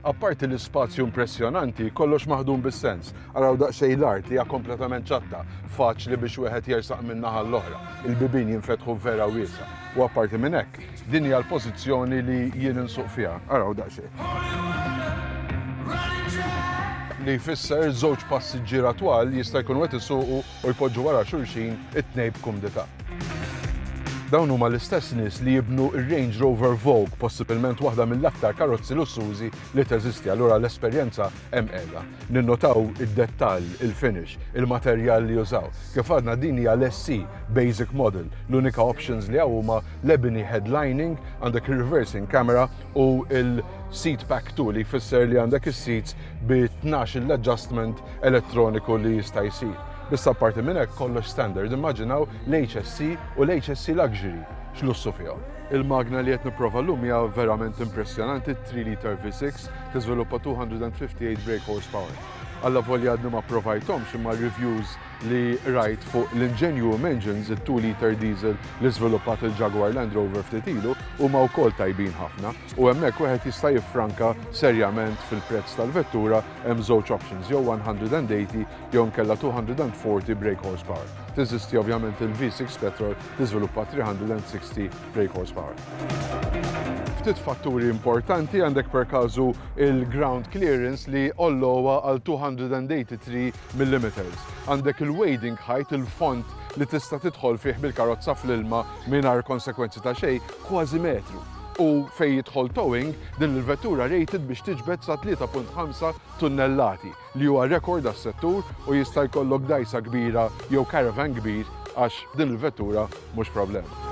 Apparti l-ispazju impressjonanti, kollox maħdum bis-sens. Araw daqsxejn l-art li hija kompletament ċatta, faċli biex wieħed jersaq minn naħa l-oħra. Il-bibien jinfetħu vera wiesa'. U apparti minn hekk, din hija l-pożizzjoni li jien insuq fiha. Araw daqsxejn. Li jfisser żewġ passiġġiera twal jista' jkunu qed isuqu u jpoġġu wara xulxin it-tnejn b'kumdità. Dawn huma l-istess nies li jibnu r-Range Rover Vogue, possibilment waħda mill-aktar karozzi lussużi li teżisti, allura l-esperjenza hemm qiegħda. Ninnotaw id-dettall, il-finish, il-materjal li jużaw. Kif għadna din hija l-SC Basic Model, l-unika options li hawn huma l-ebony headlining, għandek il-reversing camera u il-seat pack 2 li jfisser li għandek is-seats bi 12 l-adjustment elettroniku li jista' jsir. Biss apparti minn hekk kollox standard, immaġinaw l-HSC u l-HSC Luxury x'lussu fihom. Il-magna li qed nipprova llum hija verament impressjonanti, 3 liter V6 tiżviluppa 258 brake horsepower. Allavolja għadni ma provajthomx imma reviews li rajt fuq l-Ingenium Engines, it-2 liter diesel li żviluppat il-Jaguar Land Rover ftit ilu, huma wkoll tajbin ħafna u hemmhekk wieħed jista' jiffranka serjament fil-prezz tal-vettura. Hemm żewġ options, jew 180 jew inkella 240 brake horsepower. Teżisti ovvjament il-V6 petrol tiżviluppa 360 brake horsepower. Ftit fatturi importanti għandek per każu il-ground clearance li ollowa għal 283 mm. Għandek il-wading height, il-fond li tista' tidħol fih bil-karozza fl-ilma mingħajr konsekwenzi ta' xejn, kważi metru. U fejn jidħol towing, din il-vettura rated biex tiġbed sa 3.5 tunnellati, li huwa rekord għas-settur u jista' jkollok dgħajsa kbira jew caravan kbir għax din il-vettura mhux problema.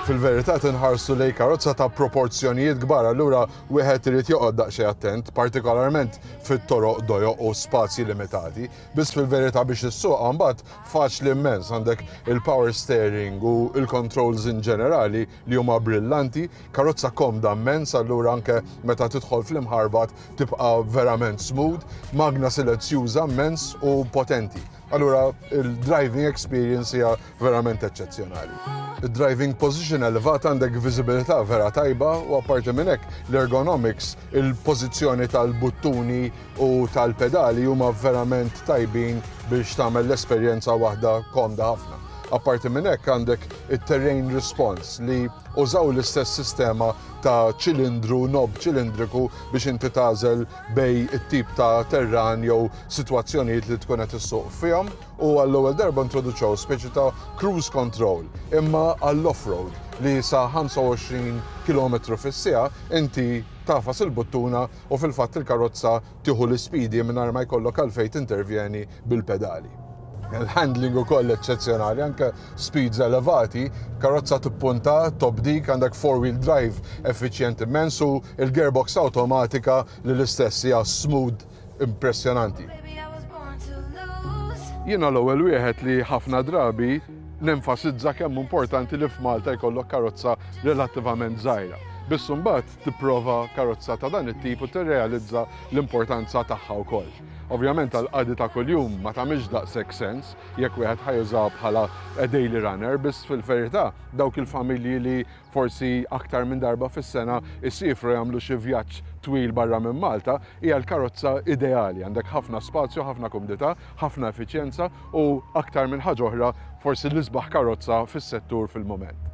Fil-verità tinħarsu lejn karozza ta' proporzjonijiet kbar, allura wieħed irid joqgħod daqsxejn attent, partikolarment fit-toroq dojoq u spazji limitati. Biss fil-verità biex issuqha mbagħad faċli immens, għandek il-power steering u il-controls in ġenerali li huma brillanti, karozza komda immens, allura anke meta tidħol fl-imħarbat tibqa' verament smooth, magna silenzjuża immens u potenti. Allura il-driving experience hija verament eċċezzjonali. Il-driving position elevata, għandek viżibilità vera tajba u apparti minn hekk l-ergonomics, il-pożizzjoni tal-buttuni u tal-pedali huma verament tajbin biex tagħmel l-esperjenza waħda komda ħafna. Apparti minn hekk għandek it-terrain response li użaw l-istess sistema ta' ċilindru, knob ċilindriku biex inti tagħżel bejn it-tip ta' terran jew sitwazzjonijiet li tkun qed issuq fihom u għall-ewwel darba introduċew speċi ta' cruise control imma għall-off-road li sa 25 km fis-siegħa inti tagħfas il-buttuna u fil-fatt il-karozza tieħu l-ispidi mingħajr ma jkollok għalfejn tintervjeni bil-pedali. Il-handling ukoll eċċezzjonali, anke speeds elevati, karozza tippunta, top dik, għandek four-wheel drive effiċjenti immens u il-gearbox automatika li l-istess hija smooth impressjonanti. Jiena l-ewwel wieħed li ħafna drabi nenfasizza kemm importanti li f'Malta jkollok karozza relattivament żgħira. Biss imbagħad tipprova karozza ta' dan it-tip u tirrealizza l-importanza tagħha wkoll. Ovvjament għal qadi ta' kuljum ma tagħmilx daqshekk sens jekk wieħed ħa jużaha bħala a daily runner, biss fil-verità dawk il-familji li forsi aktar minn darba fis-sena isifru jagħmlu xi vjaġġ twil barra minn Malta, hija l-karozza ideali. Għandek ħafna spazju, ħafna kumdità, ħafna effiċjenza u aktar minn ħaġa oħra forsi l-isbaħ karozza fis-settur fil-moment.